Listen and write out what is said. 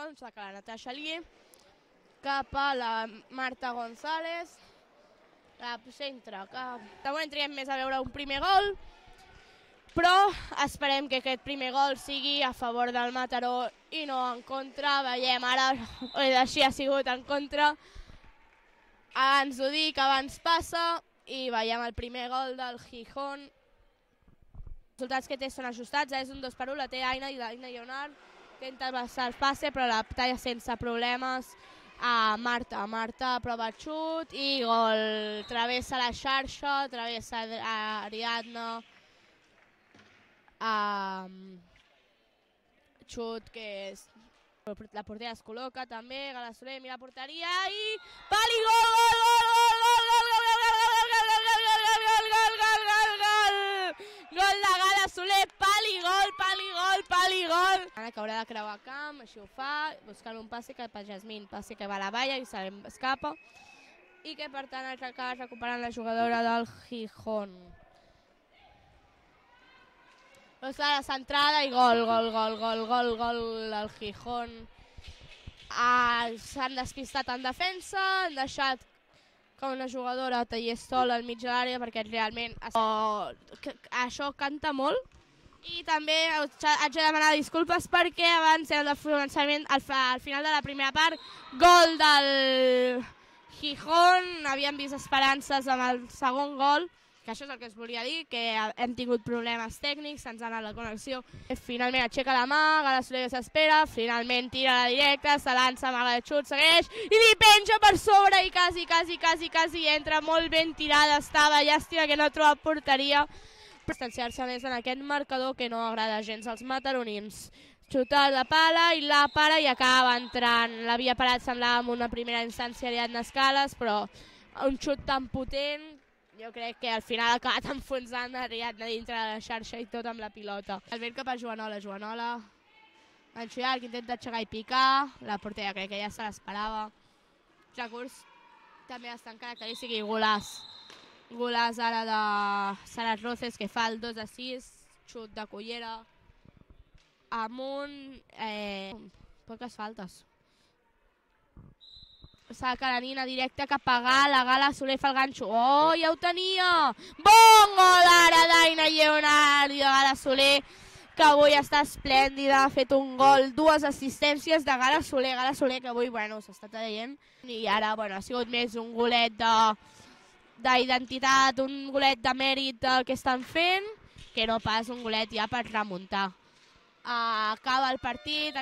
em saca la Natasha Lee, cap a la Marta González, la centre, que de moment triem més a veure un primer gol, però esperem que aquest primer gol sigui a favor del Mataró i no en contra. Veiem ara, així ha sigut en contra. Abans ho dic, abans passa, i veiem el primer gol del Gijón. Els resultats que té són ajustats, és un 2-1, la té Aina i l'Aina Lleonard. Intenta passar el passe, però la talla sense problemes a Marta. Marta prova el xut i gol. Travessa la xarxa, travessa Ariadna. Xut que és... La portera es col·loca també, Gala Soler mira la porteria i... Pali, gol, gol, gol, gol, gol de Gala Soler, pali, gol. Ara que haurà de creuar camp, així ho fa, buscant un passe cap a Jasmine, passe que va a la valla i se escapa. I que per tant acaba recuperant la jugadora del Gijón. La centrada i gol del Gijón. S'han despistat en defensa, han deixat que una jugadora tallés sola al mig de l'àrea perquè realment això canta molt. I també haig de demanar disculpes perquè abans era el començament, al final de la primera part, gol del Gijón. Havíem vist esperances amb el segon gol, que això és el que es volia dir, que hem tingut problemes tècnics, se'ns ha anat la connexió. Finalment aixeca la mà, Gala Soler s'espera, finalment tira la directa, se lança, amaga el xut, segueix, i li penja per sobre i quasi entra, molt ben tirada estava, llàstima que no troba porteria. Distanciar-se més en aquest marcador que no agrada gens als mataronins. Xutar de pala i la para i acaba entrant. L'havia parat, semblava en una primera instància Ariadna Escales, però un xut tan potent, jo crec que al final ha acabat enfonsant Ariadna dintre de la xarxa i tot amb la pilota. El vent cap a Joanola, Ganxo llarg, intenta aixecar i picar, la portera crec que ja se l'esperava. Recurs també bastant característic i golàs. Golàs ara de Saras Roces que fa el 2-6, xut de cullera, amunt, poques faltes. Saca la Nina directa cap a Gala Soler fa el ganxo, oh, ja ho tenia! Bon gol ara d'Aina Lleonard i de Gala Soler, que avui està esplèndida, ha fet un gol, 2 assistències de Gala Soler que avui, bueno, s'està traient, i ara, bueno, ha sigut més un golet d'identitat, un golet de mèrit que estan fent, que no pas un golet ja per remuntar. Acaba el partit,